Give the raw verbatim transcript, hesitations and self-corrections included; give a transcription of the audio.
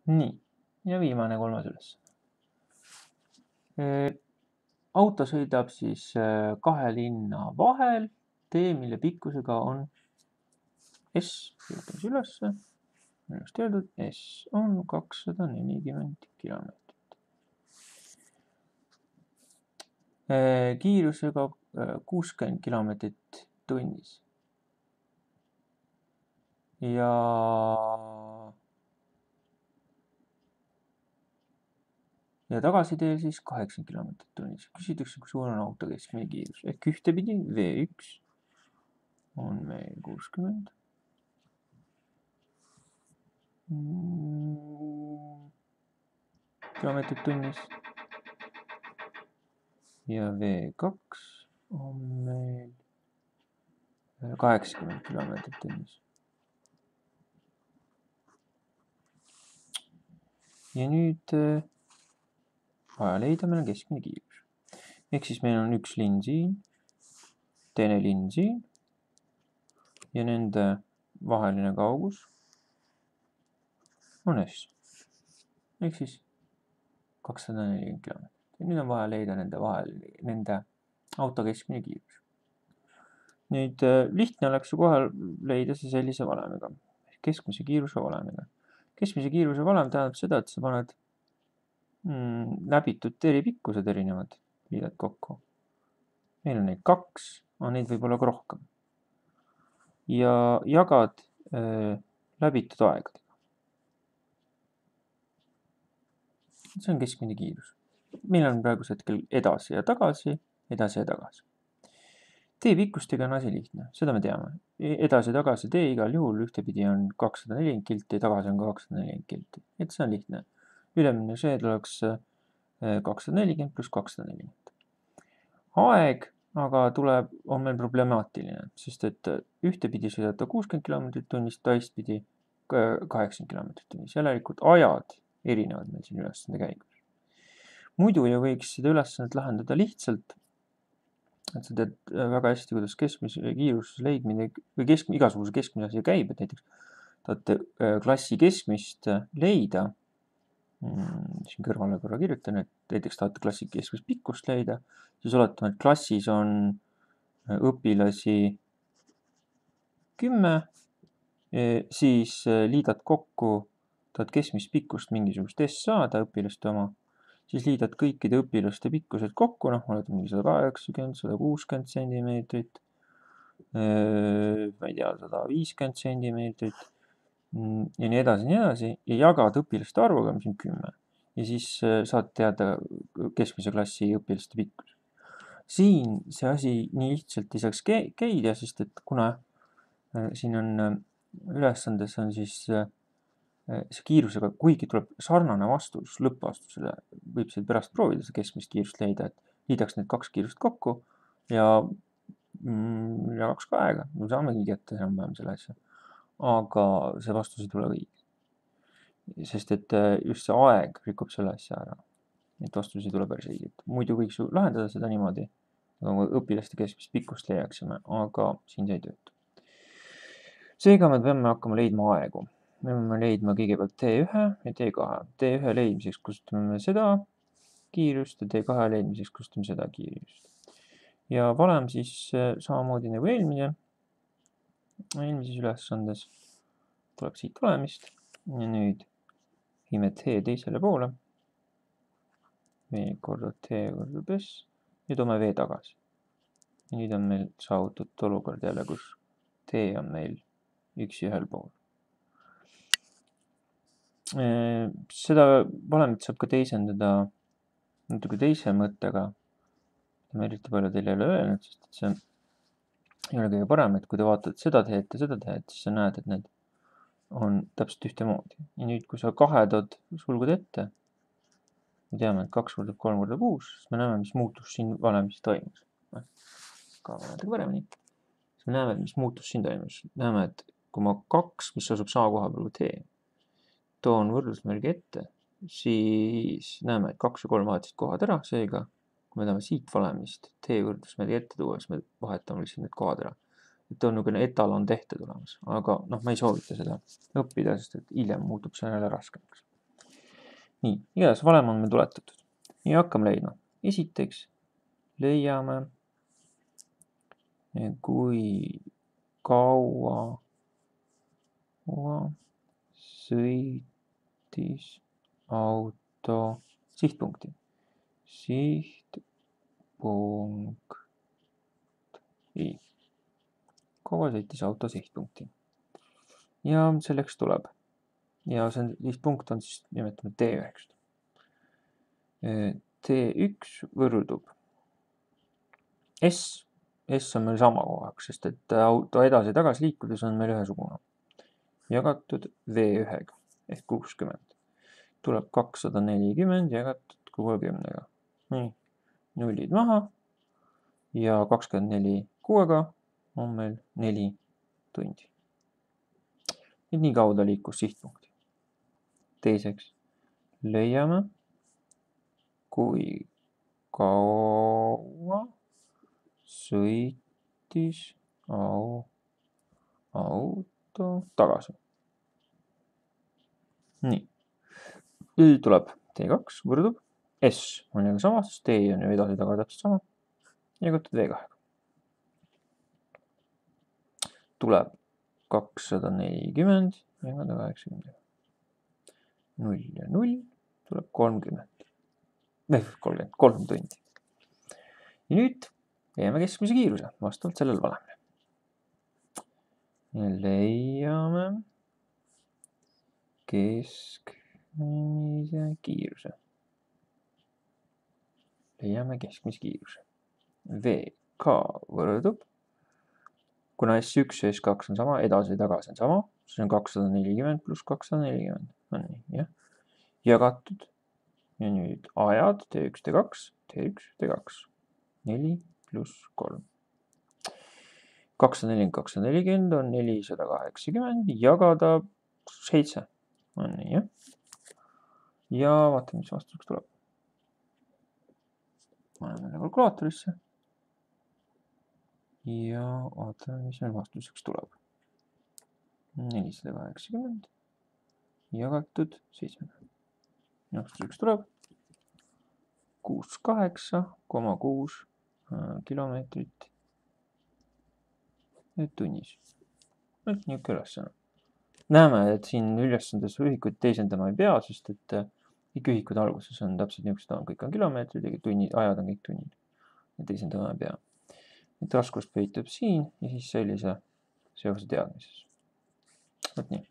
Nii, ja viimane kolmas üles. Auto sõidab siis kahe linna vahel, tee, mille pikkusega on S, kirjutame ülesse, ennast öeldud, S on kakssada nelikümmend kilomeetrit. Kiirusega kuuskümmend kilomeetrit tunnis. Ja ja tagasiteel siis kaheksakümmend kilomeetrit tunnis. Küsitakse, kui suur on auto keskmine kiirus. Ehk ühtepidi V üks on meil kuuskümmend kilomeetrit tunnis. Ja V kaks on meil kaheksakümmend kilomeetrit tunnis. Ja nüüd vaja leida meil on keskmine kiirus. Ehk siis meil on üks linn siin, teine linn siin ja nende vaheline kaugus on S. Ehk siis kakssada nelikümmend kilomeetrit. Ja nüüd on vaja leida nende vahel, nende auto keskmine kiirus. Nüüd lihtne oleks ju kohe leida see sellise valemiga. Keskmise kiiruse valemiga. Keskmise kiiruse valem tähendab seda, et sa paned mm, läbitud teeripikkused erinevad, liidad kokku. Meil on neid kaks, aga neid võib olla ka rohkem. Ja jagad äh, läbitud aegadega. See on keskmine kiirus. Meil on praegu hetkel edasi ja tagasi, edasi ja tagasi. Tee pikkustega on asi lihtne, seda me teame. Edasi ja tagasi tee igal juhul ühtepidi on kakssada nelikümmend kilti, tagasi on ka kakssada nelikümmend kilti. Et see on lihtne. Ülemine see tuleks kakssada nelikümmend pluss kakssada nelikümmend. Aeg aga tuleb, on meil problemaatiline, sest et ühtepidi sõidata kuuskümmend kilomeetrit tunnis, teistpidi kaheksakümmend kilomeetrit tunnis. Järelikult ajad erinevad meil siin ülesande käigus. Muidu ju võiks seda ülesannet lahendada lihtsalt, et sa tead väga hästi, kuidas keskmise kiiruse leidmine või kesk, igasuguse keskmise asi käib, et näiteks tahate klassi keskmist leida, siin kõrvale korra kirjutan, et näiteks tahate klassi keskmist pikkust leida, siis oletame, et klassis on õpilasi kümme, siis liidad kokku, tahad keskmist pikkust mingisugust S saada õpilaste oma, siis liidad kõikide õpilaste pikkused kokku, noh, oled mingi sada kaheksakümmend, sada kuuskümmend sentimeetrit, ma ei tea, sada viiskümmend sentimeetrit ja nii edasi, nii edasi ja jagad õpilaste arvuga, mis on kümme. Ja siis saad teada keskmise klassi õpilaste pikkus. Siin see asi nii lihtsalt ei saaks käida, sest et kuna siin on ülesandes on siis see kiirusega, kuigi tuleb sarnane vastus lõppvastusele, võib seal pärast proovida see keskmist kiirust leida, et liidaks need kaks kiirust kokku ja mm, jagaks ka aega. Me saamegi kätte enam-vähem selle asja. Aga see vastus ei tule õige. Sest et just see aeg rikub selle asja ära. Et vastus ei tule päris õiget. Muidu võiks ju lahendada seda niimoodi, nagu õpilaste keskmist pikkust leiaksime, aga siin see ei tööta. Seega me peame hakkama leidma aegu. Me peame leidma kõigepealt T üks ja T kaks. T üks leidmiseks kasutame seda kiirust ja T kaks leidmiseks kasutame seda kiirust. Ja valem siis samamoodi nagu eelmine, eelmises ülesandes tuleb siit valemist ja nüüd viime T teisele poole. V korda T korda S ja toome V tagasi. Ja nüüd on meil saavutatud olukord jälle, kus T on meil üksi ühel pool. Seda valemit saab ka teisendada natuke teise mõttega. Ma eriti palju teile ei ole öelnud, sest et see ei ole kõige parem, et kui te vaatad seda teed ja seda teed, siis sa näed, et need on täpselt ühtemoodi. Ja nüüd, kui sa kahed sulgud ette, me teame, et kaks korda kolm korda kuus, siis me näeme, mis muutus siin valemis toimus. Ka vaadake paremini. Siis me näeme, mis muutus siin toimus. Näeme, et kui ma kaks, mis asub sama koha peal kui T, toon võrdlusmärgi ette, siis näeme, et kaks ja kolm vahetasid kohad ära, seega kui me tahame siit valemist T võrdlusmärgi ette tuua, siis me vahetame lihtsalt need kohad ära. Et on niisugune etalon tehte tulemas, aga noh, ma ei soovita seda õppida, sest et hiljem muutub see jälle raskemaks. nii, igatahes valem on meil tuletatud. ja hakkame leidma. Esiteks leiame, kui kaua sõitis auto sihtpunkti. Sihtpunkt. Ei. Kaua sõitis auto sihtpunkti. Ja selleks tuleb. Ja see sihtpunkt on siis nimetame T üks. T üks võrdub S. S on meil sama kogu aeg, sest et auto edasi ja tagasi liikudes on meil ühesugune. Jagatud V üks ehk kuuskümmend. Tuleb kakssada nelikümmend jagatud kuuekümnega. Nii, nullid maha ja kakskümmend neli kuuega on meil neli tundi. Nüüd nii kauda liikus sihtpunkti. Teiseks leiame, kui kaua sõitis auto tagasi. Nii. Nüüd tuleb T kaks võrdub S on jälle sama, sest T on ju edasi taga täpselt sama. Jagatud V kaks. Tuleb kakssada nelikümmend jagada kaheksakümmend. null ja null tuleb kolmkümmend. kolmkümmend, kolm tundi. Ja nüüd leiame keskmise kiiruse vastavalt sellel valemile. Leiame keskmise kiiruse. Leiame keskmise kiiruse. V K võrdub, kuna S üks ja S kaks on sama, edasi ja tagasi on sama, siis on kakssada nelikümmend pluss kakssada nelikümmend. On nii, jah. Jagatud. Ja nüüd ajad T üks, T kaks, T üks, T kaks. neli pluss kolm. kakssada nelikümmend, kakssada nelikümmend on nelisada kaheksakümmend jagada seitse. On nii, jah. Ja vaatame, mis vastuseks tuleb. Paneme kalkulaatorisse. Ja vaatame, mis meil vastuseks tuleb. nelisada kaheksakümmend jagatud seitse. Vastuseks tuleb kuuskümmend kaheksa koma kuus kilomeetrit tunnis. Niisugune ülesanne. Näeme, et siin ülesandes ühikuid teisendama ei pea, sest et kõik ühikud alguses on täpselt niisugused, kõik on kilomeetrid ja tunnid, ajad on kõik tunnid. Ja teisendama ei pea. Et raskust peitub siin ja siis sellise seose teadmises. Võt nii.